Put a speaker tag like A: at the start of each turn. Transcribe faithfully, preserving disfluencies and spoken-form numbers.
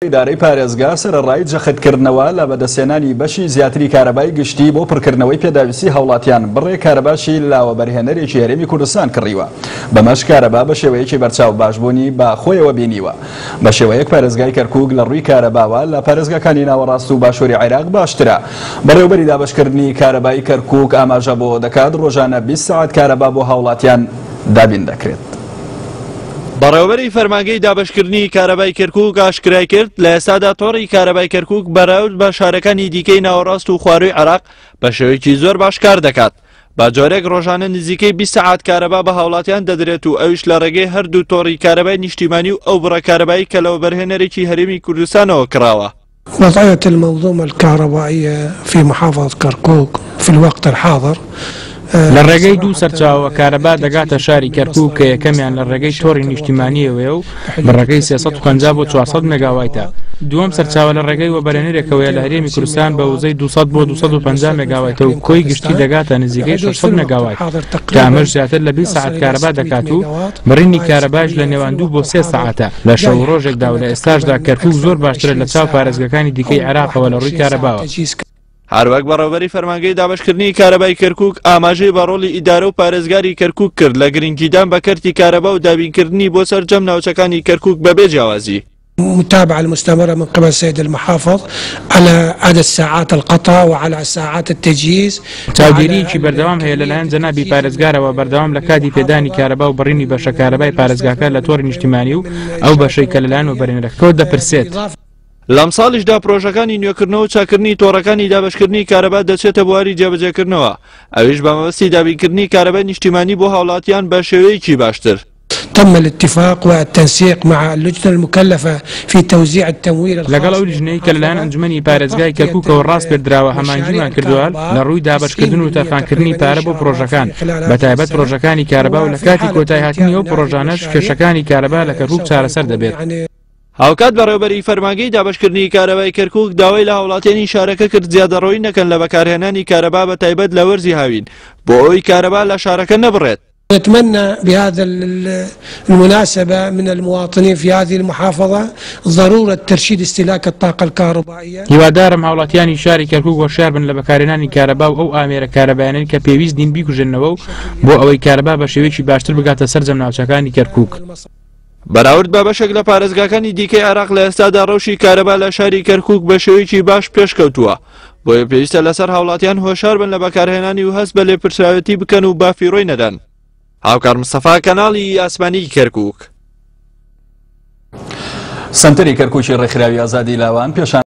A: ئیدارەی پارێزگا سەرەڕای جەختکردنەوە لە بەدەستهێنانی بەشی زیاتری کارەبای گشتی بۆ پڕکردنەوەی پێداویستی هاوڵاتیان بڕێ کارەباشی لە وەبەرهێنەرێکی هەرێمی کوردستان کڕیوە. بەمەش کارەبا بە شێوەیەکی بەرچاو باشبوونی بە خۆیەوە بینیوە. بە شێوەیەک پارێزگای کەرکووک لە ڕووی کارەباوە لە پارێزگاکانی ناوەڕاست و باشووری عێراق باشترە. بەڕێوەبەری دابەشکردنی کارەبای کەرکووک ئاماژە بۆ دەکات ڕۆژانە بیست سەعات کارەبا بۆ هاوڵاتیان دابین دەکرێت.
B: بەڕێوەبەری فەرمانگەی دابەشکردنی کارەبای کەرکووک ئاشکرای کرد لە ئێستادا تۆڕی کارەبای کەرکووک بەراورد بە شارەکانی دیکەی ناوەڕاست و خوارووی عێراق بە شێوەیەکی زۆر باش کار دەکات. بە جۆرێک ڕۆژانە نزیکەی بیست سەعات کارەبا بە هاوڵاتیان دەدرێت و ئەویش لە ڕێگەی هەردوو تۆڕی کارەبای نیشتیمانی و ئەو بڕە کارەبایی کە لە وەبەرهێنەرێکی هەرێمی کوردستانەوە کراوە.
C: وضعية المنظومة الكهربائية في محافظة كركوك في الوقت الحاضر
D: لە ڕێگەی دوو سەرچاوە کارەبا دەگاتە شاری کەرکووک کە یەکەمیان لە ڕێگەی تۆڕی نیشتیمانیەوەیە و بڕەکەی سێ سەد و پەنجا بۆ چوار سەد مێگاوایتە. دووەم سەرچاوە لە ڕێگەی وەبەرهێنەرێکەوەیە لە هەرێمی کوردستان بە وزەی دوو سەد بۆ دوو سەد و پەنجا مێگاوایتە و کۆی گشتی دەگاتە نزیکەی شەش سەد مێگاوایت کە ئەمەش زیاتر لە بیست سەعات کارەبا دەکات و بڕینی کارەباش لە نێوان دوو بۆ سێ سەعاتە لە شەو ڕۆژێکدا و لە ئێستاشدا کەرکووک زۆر باشترە لە چاو پارێزگاکانی دیکەی عێراقەوە لە ڕووی کارەباوە.
B: هەروەک بەڕێوەبەری فەرمانگەی دابەشکردنی کارەبای کەرکووک ئاماژەی بە ڕۆڵی ئیدارە و پارێزگاری کەرکووک کرد لە گرنگیدان بە کەرتی کارەبا و دابینکردنی بۆ سەرجەم ناوچەکانی کەرکووک بەبێ جیاوازی.
C: متابعة المستمرة من قبل السيد المحافظ على عدد ساعات القطع وعلى ساعات التجهيز.
D: چاودێریەکی بەردەوام هەیە لەلایەن جەنابی پارێزگارەوە بەردەوام لە کاتی پێدانی کارەبا و بڕینی بەشە کارەبای پارێزگاکە لە تۆڕی نیشتیمانی و ئەو بەشەی کە لەلایەن وەبەرهێنەرەکەوە دەپرسێت.
B: لەم ساڵیشدا پرۆژەکانی نوێکردنەوە و چاکردنی تۆڕەکانی دابەشکردنی کارەبا دەچێتە بواری جێبەجێکردنەوە، ئەویش بە مەبەستی دابینکردنی کارەبای نیشتیمانی بۆ هاوڵاتیان بە شێوەیەکی باشتر.
C: تم الاتفاق والتنسيق مع اللجنة المكلفة في توزيع التمويل الخاص.
D: لەگەڵ ئەو لیژنەی کە لەلایەن ئەنجومەنی پارێزگای کەرکووکەوە ڕاسپێردراوە هەماهەنگیمان کردووە لە ڕووی دابەشکردن و تەرخانکردنی پارە بۆ پرۆژەکان، بە تایبەت پرۆژەکانی کارەبا و لە کاتی کۆتایهاتنی ئەو پرۆژانەش کێشەکانی کارەبا لە کەرکووک چارەسەر دەبێت.
B: هاوکات بەڕێوەبەری فەرمانگەی دابەشکردنی کارەبای کەرکووک داوای لە هاوڵاتیانی شارەکە کرد زیادەڕۆیی نەکەن لە بەکارهێنانی کارەبا بە تایبەت لە وەرزی هاوین بۆ ئەوەی کارەبا لە شارەکە نەبڕێت.
C: نتمنى بهذا المناسبة من المواطنين في هذه المحافظة ضرورة ترشيد استهلاك الطاقة الكهربائية.
D: هیوادارم هاوڵاتیانی شاری کەرکووک هۆشیار بن لە بەکارهێنانی کارەبا و ئەو ئامێرە کارەبایانەی کە پێویست نین بیکوژێنەوە و بۆ ئەوەی کارەبا بە شێوەیەکی باشتر بگاتە سەرجەم ناوچەکانی کەرکووک.
B: بەراورد بە بەشێک لە پارێزگاکانی دیکەی عێراق لە ئێستادا ڕەوشی کارەبا لە شاری کەرکووک بە شێوەیەکی باش پێشکەوتووە، بۆیە پێویستە لەسەر هاوڵاتیان هۆشار بن لە بەکارهێنانی و هەست بە لێپرسراوێتی بکەن و بافیڕۆی نەدەن. هاوکار مستەفا، کەناڵی ئاسمانی کەرکووک.
A: سەنتەری کەرکووکی ڕێکخراوی ئازادی لاوان پێشان